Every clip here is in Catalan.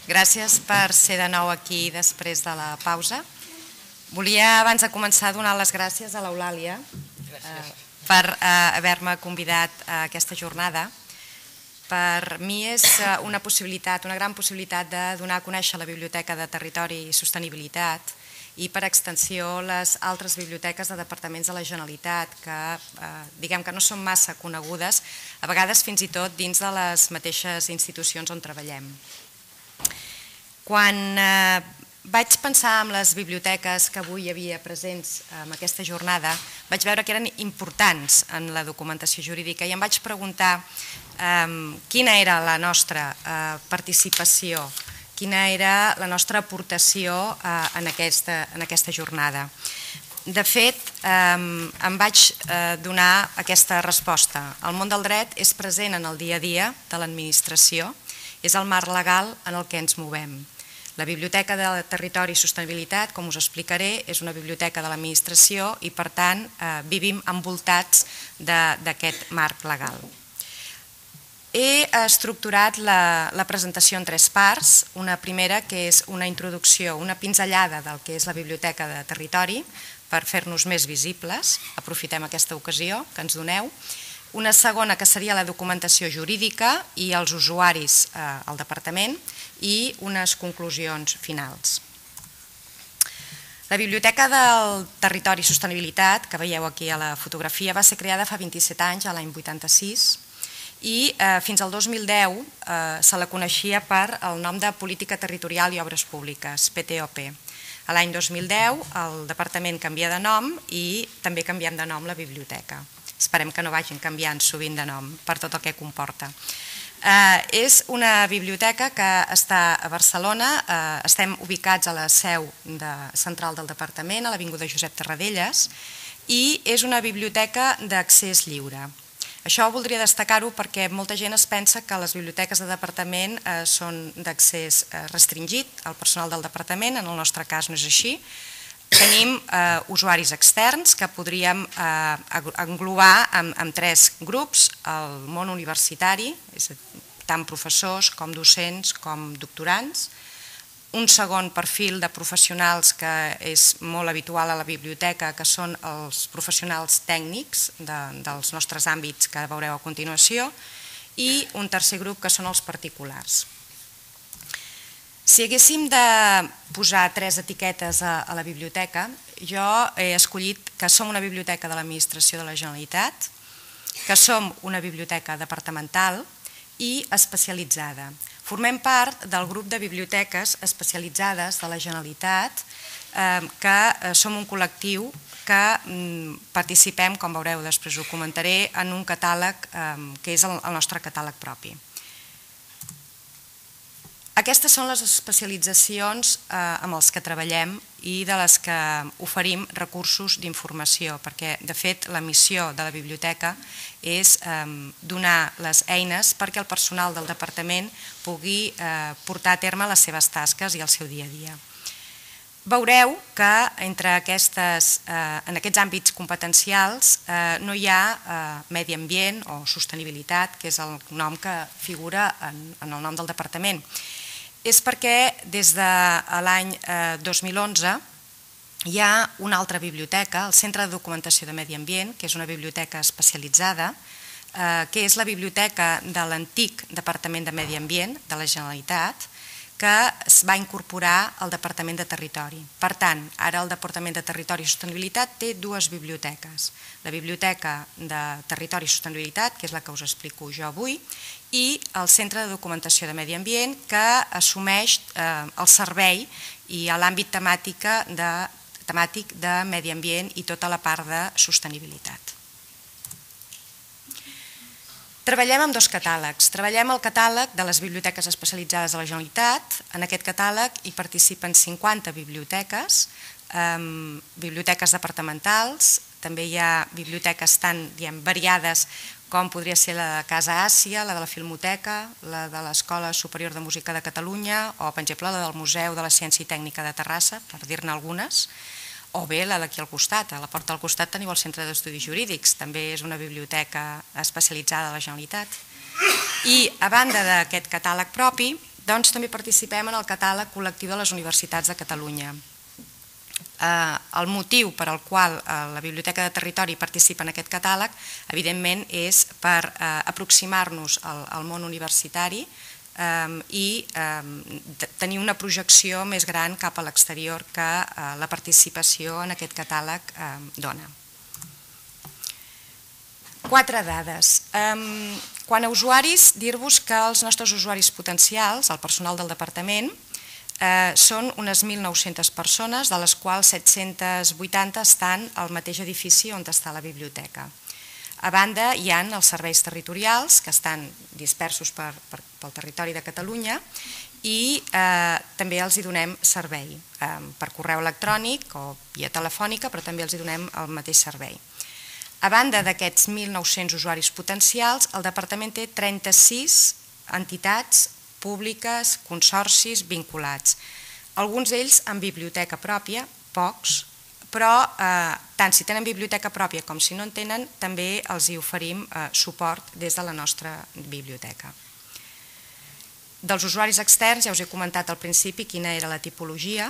Gràcies per ser de nou aquí després de la pausa. Volia, abans de començar, donar les gràcies a l'Eulàlia per haver-me convidat a aquesta jornada. Per mi és una gran possibilitat de donar a conèixer la Biblioteca de Territori i Sostenibilitat i, per extensió, les altres biblioteques de departaments de la Generalitat que, diguem que no són massa conegudes, a vegades fins i tot dins de les mateixes institucions on treballem. Quan vaig pensar en les biblioteques que avui hi havia presents en aquesta jornada, vaig veure que eren importants en la documentació jurídica i em vaig preguntar quina era la nostra participació, quina era la nostra aportació en aquesta jornada. De fet, em vaig donar aquesta resposta. El món del dret és present en el dia a dia de l'administració, és el marc legal en el que ens movem. La Biblioteca de Territori i Sostenibilitat, com us explicaré, és una biblioteca de l'administració i, per tant, vivim envoltats d'aquest marc legal. He estructurat la presentació en tres parts. Una primera, que és una introducció, una pinzellada del que és la Biblioteca de Territori, per fer-nos més visibles. Aprofitem aquesta ocasió que ens doneu. Una segona, que seria la documentació jurídica i els usuaris al departament, i unes conclusions finals. La Biblioteca del Territori i Sostenibilitat, que veieu aquí a la fotografia, va ser creada fa 27 anys, l'any 86, i fins al 2010 se la coneixia per el nom de Política Territorial i Obres Públiques, PTOP. A l'any 2010 el departament canvia de nom i també canviem de nom la biblioteca. Esperem que no vagin canviant sovint de nom per tot el que comporta. És una biblioteca que està a Barcelona, estem ubicats a la seu central del departament, a l'Avinguda Josep Tarradellas, i és una biblioteca d'accés lliure. Això voldria destacar-ho perquè molta gent es pensa que les biblioteques de departament són d'accés restringit al personal del departament, en el nostre cas no és així. Tenim usuaris externs que podríem englobar en tres grups: el món universitari, tant professors com docents com doctorants; un segon perfil de professionals que és molt habitual a la biblioteca, que són els professionals tècnics dels nostres àmbits que veureu a continuació; i un tercer grup que són els particulars. Si haguéssim de posar tres etiquetes a la biblioteca, jo he escollit que som una biblioteca de l'Administració de la Generalitat, que som una biblioteca departamental i especialitzada. Formem part del grup de biblioteques especialitzades de la Generalitat, que som un col·lectiu que participem, com veureu després ho comentaré, en un catàleg que és el nostre catàleg propi. Aquestes són les especialitzacions amb les que treballem i de les que oferim recursos d'informació, perquè, de fet, la missió de la biblioteca és donar les eines perquè el personal del departament pugui portar a terme les seves tasques i el seu dia a dia. Veureu que en aquests àmbits competencials no hi ha medi ambient o sostenibilitat, que és el nom que figura en el nom del departament. És perquè des de l'any 2011 hi ha una altra biblioteca, el Centre de Documentació de Medi Ambient, que és una biblioteca especialitzada, que és la biblioteca de l'antic Departament de Medi Ambient de la Generalitat, que es va incorporar al Departament de Territori. Per tant, ara el Departament de Territori i Sostenibilitat té dues biblioteques. La Biblioteca de Territori i Sostenibilitat, que és la que us explico jo avui, i el Centre de Documentació de Medi Ambient, que assumeix el servei i l'àmbit temàtic de medi ambient i tota la part de sostenibilitat. Treballem amb dos catàlegs. Treballem el catàleg de les biblioteques especialitzades de la Generalitat. En aquest catàleg hi participen 50 biblioteques, biblioteques departamentals, també hi ha biblioteques tan variades com podria ser la de Casa Àsia, la de la Filmoteca, la de l'Escola Superior de Música de Catalunya o, per exemple, la del Museu de la Ciència i Tècnica de Terrassa, per dir-ne algunes, o bé la d'aquí al costat. A la porta del costat teniu el Centre d'Estudis Jurídics, també és una biblioteca especialitzada de la Generalitat. I a banda d'aquest catàleg propi, doncs també participem en el catàleg col·lectiu de les universitats de Catalunya. El motiu per al qual la Biblioteca de Territori participa en aquest catàleg, evidentment, és per aproximar-nos al món universitari i tenir una projecció més gran cap a l'exterior que la participació en aquest catàleg dona. 4 dades. Quant a usuaris, dir-vos que els nostres usuaris potencials, el personal del departament, són unes 1.900 persones, de les quals 780 estan al mateix edifici on està la biblioteca. A banda, hi ha els serveis territorials, que estan dispersos pel territori de Catalunya, i també els hi donem servei, per correu electrònic o via telefònica, però també els hi donem el mateix servei. A banda d'aquests 1.900 usuaris potencials, el departament té 36 entitats públiques, consorcis vinculats. Alguns d'ells amb biblioteca pròpia, pocs, però tant si tenen biblioteca pròpia com si no en tenen, també els hi oferim suport des de la nostra biblioteca. Dels usuaris externs, ja us he comentat al principi quina era la tipologia,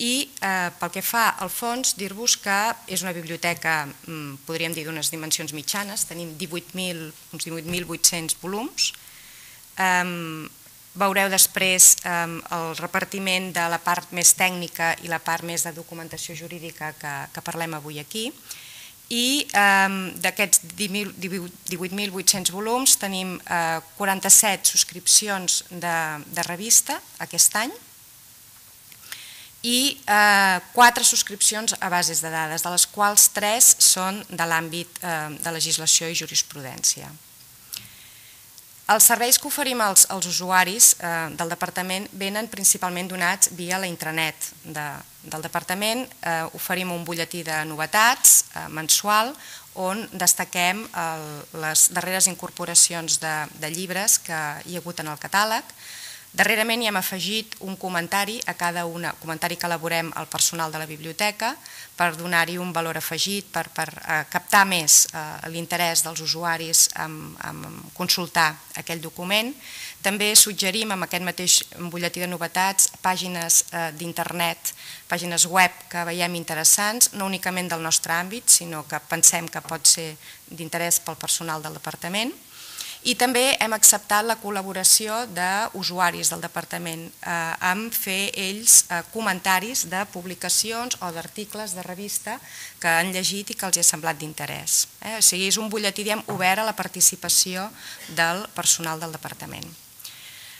i pel que fa al fons, dir-vos que és una biblioteca, podríem dir, d'unes dimensions mitjanes, tenim uns 18.800 volums. Veureu després el repartiment de la part més tècnica i la part més de documentació jurídica que parlem avui aquí. I d'aquests 18.800 volums tenim 47 subscripcions de revista aquest any i 4 subscripcions a bases de dades, de les quals 3 són de l'àmbit de legislació i jurisprudència. Els serveis que oferim als usuaris del departament venen principalment donats via la intranet del departament. Oferim un butlletí de novetats mensual on destaquem les darreres incorporacions de llibres que hi ha hagut en el catàleg. Darrerament hi hem afegit un comentari a cada una, comentari que elaborem al personal de la biblioteca per donar-hi un valor afegit, per captar més l'interès dels usuaris en consultar aquell document. També suggerim amb aquest mateix butlletí de novetats pàgines d'internet, pàgines web que veiem interessants, no únicament del nostre àmbit, sinó que pensem que pot ser d'interès pel personal del departament. I també hem acceptat la col·laboració d'usuaris del departament amb fer ells comentaris de publicacions o d'articles de revista que han llegit i que els ha semblat d'interès. O sigui, és un butlletí obert a la participació del personal del departament.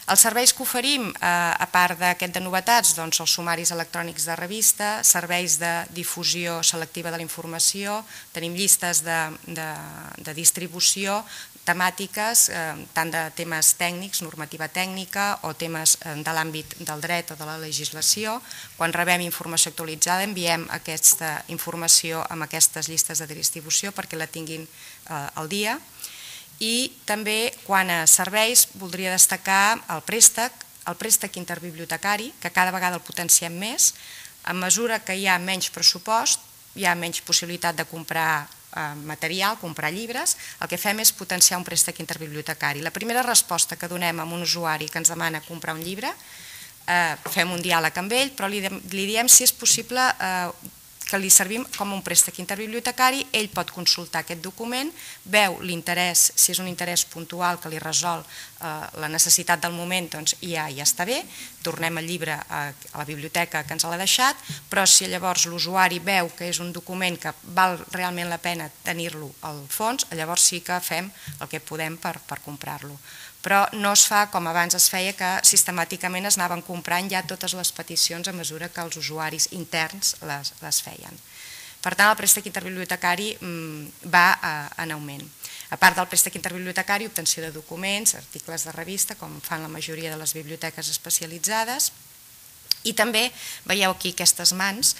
Els serveis que oferim, a part d'aquest de novetats, doncs els sumaris electrònics de revista, serveis de difusió selectiva de la informació, tenim llistes de distribució temàtiques, tant de temes tècnics, normativa tècnica, o temes de l'àmbit del dret o de la legislació. Quan rebem informació actualitzada enviem aquesta informació amb aquestes llistes de distribució perquè la tinguin al dia. I també, quant a serveis, voldria destacar el préstec interbibliotecari, que cada vegada el potenciem més. A mesura que hi ha menys pressupost, hi ha menys possibilitat de comprar material, comprar llibres, el que fem és potenciar un préstec interbibliotecari. La primera resposta que donem a un usuari que ens demana comprar un llibre, fem un diàleg amb ell, però li diem si és possible que li servim com un préstec interbibliotecari, ell pot consultar aquest document, veu l'interès, si és un interès puntual que li resol la necessitat del moment, doncs ja està bé, tornem el llibre a la biblioteca que ens l'ha deixat, però si llavors l'usuari veu que és un document que val realment la pena tenir-lo al fons, llavors sí que fem el que podem per comprar-lo. Però no es fa com abans es feia, que sistemàticament es anaven comprant ja totes les peticions a mesura que els usuaris interns les feien. Per tant, el préstec interbibliotecari va en augment. A part del préstec interbibliotecari, obtenció de documents, articles de revista, com fan la majoria de les biblioteques especialitzades. I també, veieu aquí aquestes mans,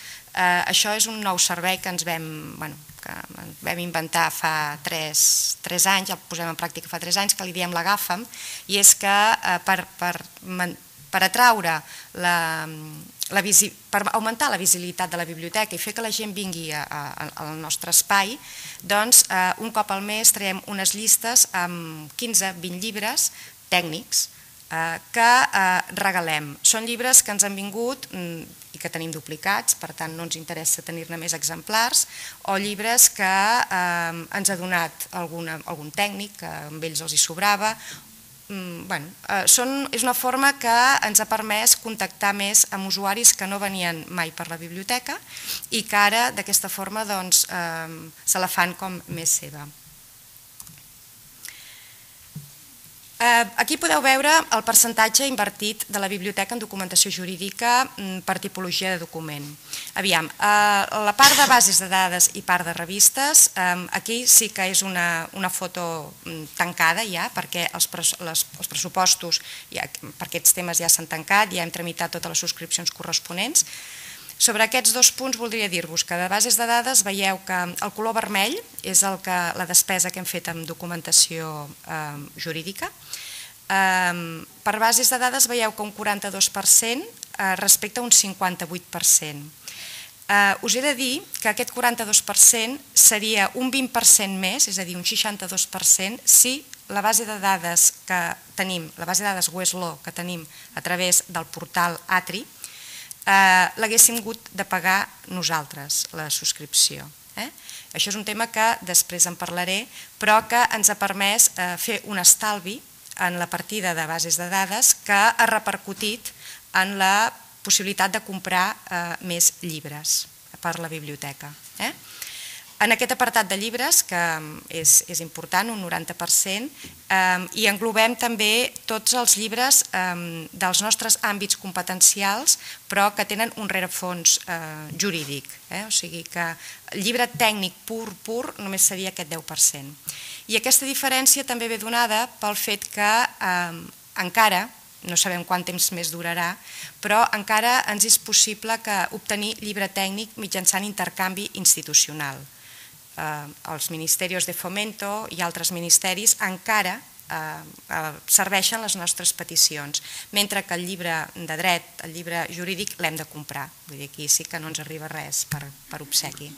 això és un nou servei que ens vam inventar fa 3 anys, el posem en pràctica fa 3 anys, que li diem l'agafa'm, i és que per atraure per augmentar la visibilitat de la biblioteca i fer que la gent vingui al nostre espai, doncs un cop al mes traiem unes llistes amb 15-20 llibres tècnics que regalem. Són llibres que ens han vingut i que tenim duplicats, per tant no ens interessa tenir-ne més exemplars, o llibres que ens ha donat algun tècnic, que amb ells els hi sobrava. És una forma que ens ha permès contactar més amb usuaris que no venien mai per la biblioteca i que ara d'aquesta forma se la fan com més seva. Aquí podeu veure el percentatge invertit de la biblioteca en documentació jurídica per tipologia de document. Aviam, la part de bases de dades i part de revistes, aquí sí que és una foto tancada ja, perquè els pressupostos per aquests temes ja s'han tancat, ja hem tramitat totes les subscripcions corresponents. Sobre aquests dos punts voldria dir-vos que de bases de dades veieu que el color vermell és la despesa que hem fet amb documentació jurídica. Per bases de dades veieu que un 42% respecte a un 58%. Us he de dir que aquest 42% seria un 20% més, és a dir, un 62%, si la base de dades que tenim, la base de dades Westlaw que tenim a través del portal Atri, l'haguéssim hagut de pagar nosaltres, la subscripció. Això és un tema que després en parlaré, però que ens ha permès fer un estalvi en la partida de bases de dades que ha repercutit en la possibilitat de comprar més llibres per la biblioteca. En aquest apartat de llibres, que és important, un 90%, hi englobem també tots els llibres dels nostres àmbits competencials, però que tenen un rerefons jurídic. O sigui que el llibre tècnic pur només seria aquest 10%. I aquesta diferència també ve donada pel fet que encara, no sabem quant temps més durarà, però encara ens és possible obtenir llibre tècnic mitjançant intercanvi institucional. Els ministeris de Fomento i altres ministeris encara serveixen les nostres peticions, mentre que el llibre de dret, el llibre jurídic, l'hem de comprar. Vull dir, aquí sí que no ens arriba res per obsequi.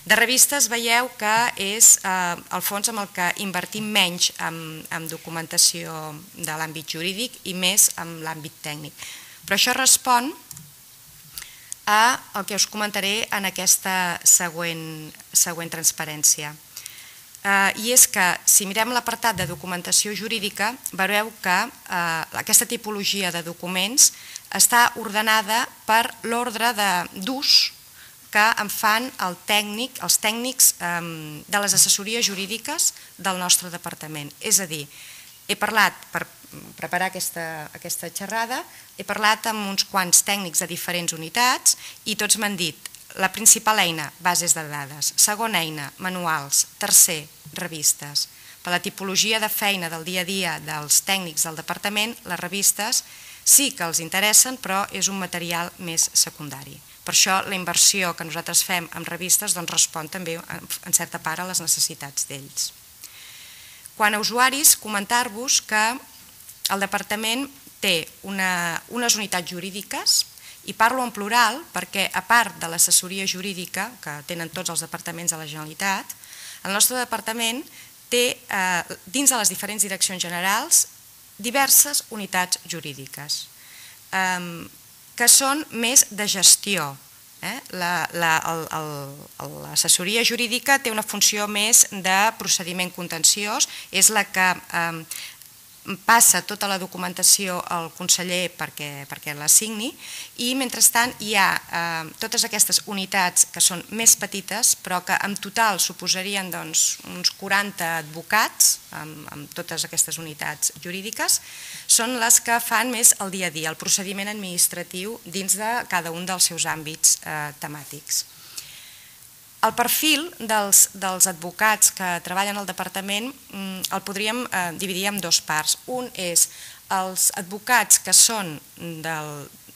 De revistes veieu que és el fons amb el que invertim menys en documentació de l'àmbit jurídic i més en l'àmbit tècnic. Però això respon el que us comentaré en aquesta següent transparència. I és que, si mirem l'apartat de documentació jurídica, veureu que aquesta tipologia de documents està ordenada per l'ordre d'ús que en fan els tècnics de les assessories jurídiques del nostre departament. És a dir, he parlat, per preparar aquesta xerrada, he parlat amb uns quants tècnics de diferents unitats i tots m'han dit la principal eina, bases de dades, segona eina, manuals, tercer, revistes. Per la tipologia de feina del dia a dia dels tècnics del departament, les revistes sí que els interessen, però és un material més secundari. Per això la inversió que nosaltres fem en revistes respon també en certa part a les necessitats d'ells. Quant a usuaris, comentar-vos que el departament té unes unitats jurídiques, i parlo en plural perquè, a part de l'assessoria jurídica que tenen tots els departaments de la Generalitat, el nostre departament té, dins de les diferents direccions generals, diverses unitats jurídiques que són més de gestió. L'assessoria jurídica té una funció més de procediment contenciós, és la que passa tota la documentació al conseller perquè la signi i, mentrestant, hi ha totes aquestes unitats que són més petites però que en total suposarien uns 40 advocats amb totes aquestes unitats jurídiques, són les que fan més el dia a dia, el procediment administratiu dins de cada un dels seus àmbits temàtics. El perfil dels advocats que treballen al departament el podríem dividir en dues parts. Un és els advocats que són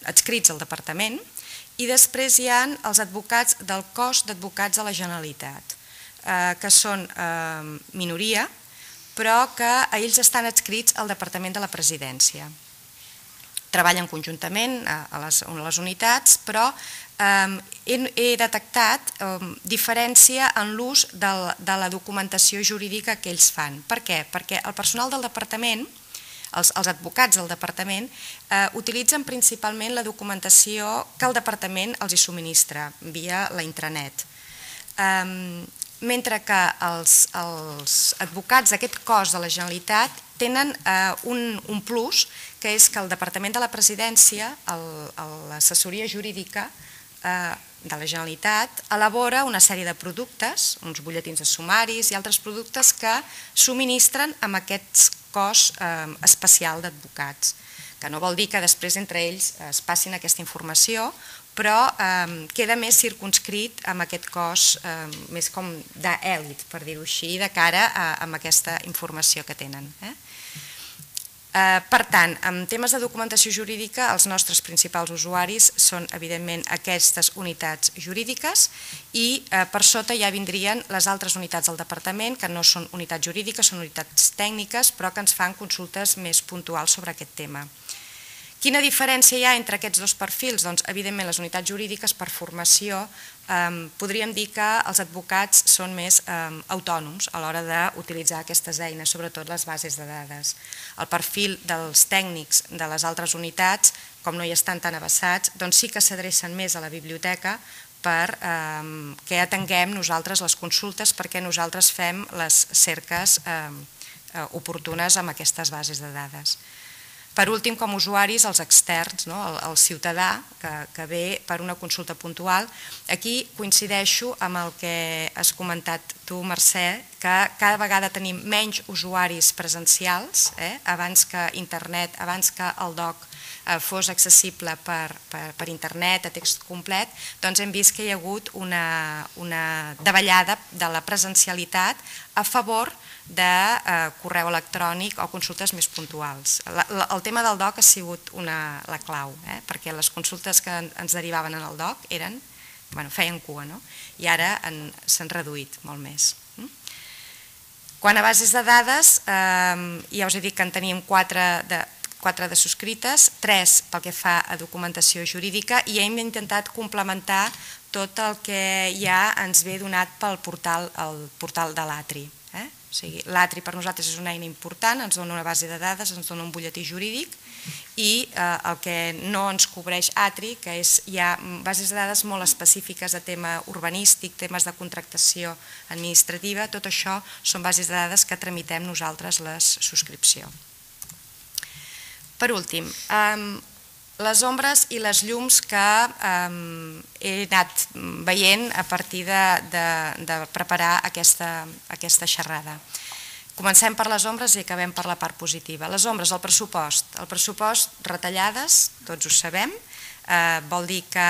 adscrits al departament i després hi ha els advocats del cos d'advocats de la Generalitat, que són minoria, però que ells estan adscrits al Departament de la Presidència. Treballen conjuntament a les unitats, però he detectat diferència en l'ús de la documentació jurídica que ells fan. Per què? Perquè el personal del departament, els advocats del departament utilitzen principalment la documentació que el departament els hi subministra via la intranet. Mentre que els advocats d'aquest cos de la Generalitat tenen un plus, que és que el Departament de la Presidència, l'assessoria jurídica de la Generalitat, elabora una sèrie de productes, uns butlletins de sumaris i altres productes que subministren amb aquest cos especial d'advocats, que no vol dir que després entre ells es passin aquesta informació, però queda més circumscrit amb aquest cos més com d'èlit, per dir-ho així, de cara a aquesta informació que tenen. Per tant, en temes de documentació jurídica, els nostres principals usuaris són, evidentment, aquestes unitats jurídiques i per sota ja vindrien les altres unitats del departament, que no són unitats jurídiques, són unitats tècniques, però que ens fan consultes més puntuals sobre aquest tema. Quina diferència hi ha entre aquests dos perfils? Doncs, evidentment, les unitats jurídiques, per formació, podríem dir que els advocats són més autònoms a l'hora d'utilitzar aquestes eines, sobretot les bases de dades. El perfil dels tècnics de les altres unitats, com no hi estan tan avesats, doncs sí que s'adrecen més a la biblioteca perquè atenguem nosaltres les consultes, perquè nosaltres fem les cerques oportunes amb aquestes bases de dades. Per últim, com a usuaris, els externs, el ciutadà que ve per una consulta puntual, aquí coincideixo amb el que has comentat tu, Mercè, que cada vegada tenim menys usuaris presencials, abans que internet, abans que el DOC fos accessible per internet, a text complet, doncs hem vist que hi ha hagut una davallada de la presencialitat a favor de correu electrònic o consultes més puntuals. El tema del DOC ha sigut la clau, perquè les consultes que ens derivaven en el DOC feien cua, i ara s'han reduït molt més. Quant a bases de dades, ja us he dit que en tenim 4 de subscrites, 3 pel que fa a documentació jurídica, i hem intentat complementar tot el que ja ens ve donat pel portal de l'Atri. L'Atri per nosaltres és una eina important, ens dona una base de dades, ens dona un butlletí jurídic, i el que no ens cobreix Atri, que hi ha bases de dades molt específiques de tema urbanístic, temes de contractació administrativa, tot això són bases de dades que tramitem nosaltres la subscripció. Per últim, les ombres i les llums que he anat veient a partir de preparar aquesta xerrada. Comencem per les ombres i acabem per la part positiva. Les ombres, el pressupost. El pressupost, retallades, tots ho sabem, vol dir que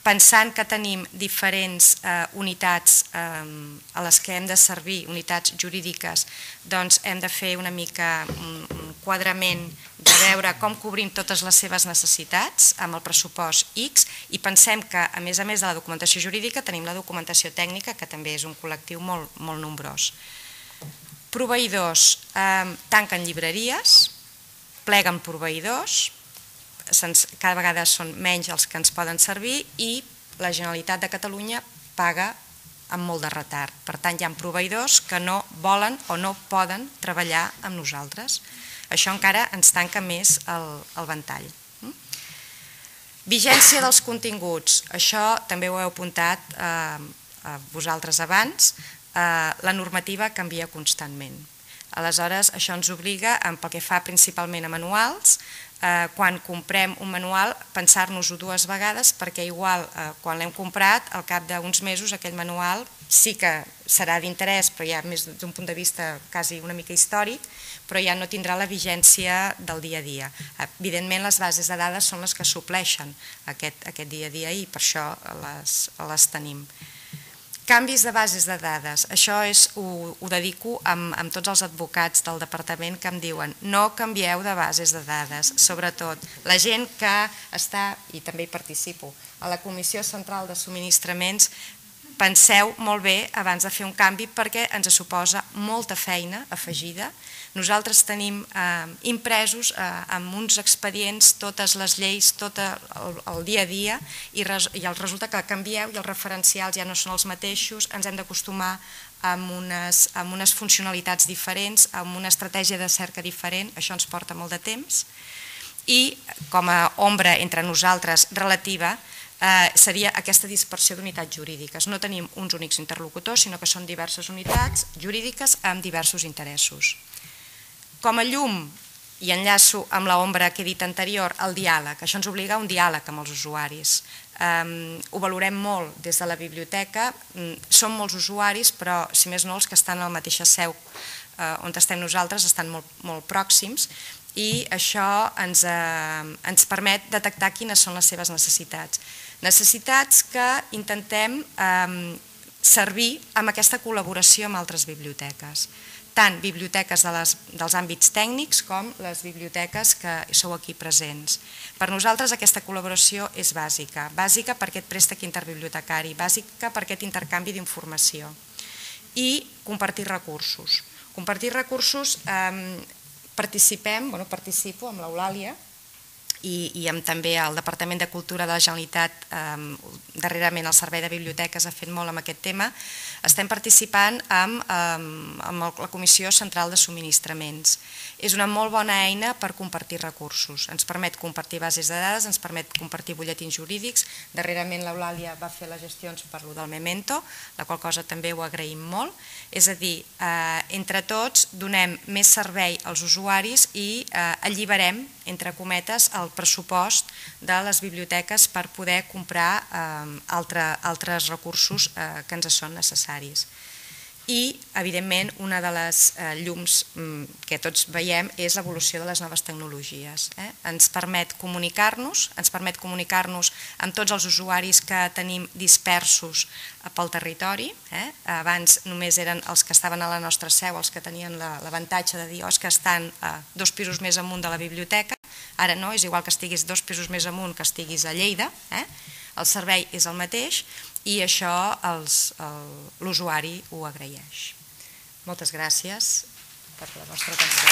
pensant que tenim diferents unitats a les que hem de servir, unitats jurídiques, doncs hem de fer una mica un quadrament de veure com cobrim totes les seves necessitats amb el pressupost X, i pensem que, a més de la documentació jurídica, tenim la documentació tècnica, que també és un col·lectiu molt nombrós. Proveïdors, tanquen llibreries, pleguen proveïdors, cada vegada són menys els que ens poden servir, i la Generalitat de Catalunya paga amb molt de retard. Per tant, hi ha proveïdors que no volen o no poden treballar amb nosaltres. Això encara ens tanca més el ventall. Vigència dels continguts. Això també ho heu apuntat vosaltres abans. La normativa canvia constantment. Aleshores, això ens obliga, pel que fa principalment a manuals, quan comprem un manual, pensar-nos-ho 2 vegades, perquè igual quan l'hem comprat, al cap d'uns mesos aquell manual sí que serà d'interès, però ja més d'un punt de vista quasi una mica històric, però ja no tindrà la vigència del dia a dia. Evidentment, les bases de dades són les que supleixen aquest dia a dia, i per això les tenim. Canvis de bases de dades, això ho dedico amb tots els advocats del departament que em diuen no canvieu de bases de dades, sobretot la gent que està, i també hi participo, a la Comissió Central de Subministraments, penseu molt bé abans de fer un canvi perquè ens suposa molta feina afegida. Nosaltres tenim impresos amb uns expedients totes les lleis, tot el dia a dia, i resulta que canvieu i els referencials ja no són els mateixos, ens hem d'acostumar amb unes funcionalitats diferents, amb una estratègia de cerca diferent, això ens porta molt de temps, i com a ombra entre nosaltres relativa seria aquesta dispersió d'unitats jurídiques. No tenim uns únics interlocutors, sinó que són diverses unitats jurídiques amb diversos interessos. Com a llum, i enllaço amb l'ombra que he dit anterior, el diàleg. Això ens obliga a un diàleg amb els usuaris. Ho valorem molt des de la biblioteca. Som molts usuaris, però si més no els que estan a la mateixa seu on estem nosaltres estan molt pròxims, i això ens permet detectar quines són les seves necessitats. Necessitats que intentem servir amb aquesta col·laboració amb altres biblioteques, tant biblioteques dels àmbits tècnics com les biblioteques que sou aquí presents. Per nosaltres aquesta col·laboració és bàsica per aquest préstec interbibliotecari, bàsica per aquest intercanvi d'informació i compartir recursos. Compartir recursos, participo amb l'Eulàlia i amb també el Departament de Cultura de la Generalitat, darrerament el Servei de Biblioteques ha fet molt amb aquest tema. Estem participant amb la Comissió Central de Subministraments. És una molt bona eina per compartir recursos. Ens permet compartir bases de dades, ens permet compartir butlletins jurídics. Darrerament l'Eulàlia va fer les gestions per lo del Memento, la qual cosa també ho agraïm molt. És a dir, entre tots donem més servei als usuaris i alliberem, entre cometes, el pressupost de les biblioteques per poder comprar altres recursos que ens són necessaris. I, evidentment, una de les llums que tots veiem és l'evolució de les noves tecnologies. Ens permet comunicar-nos amb tots els usuaris que tenim dispersos pel territori. Abans només eren els que estaven a la nostra seu, els que tenien l'avantatge de dir que estan 2 pisos més amunt de la biblioteca. Ara no, és igual que estiguis 2 pisos més amunt que estiguis a Lleida, el servei és el mateix, i això l'usuari ho agraeix. Moltes gràcies per la vostra atenció.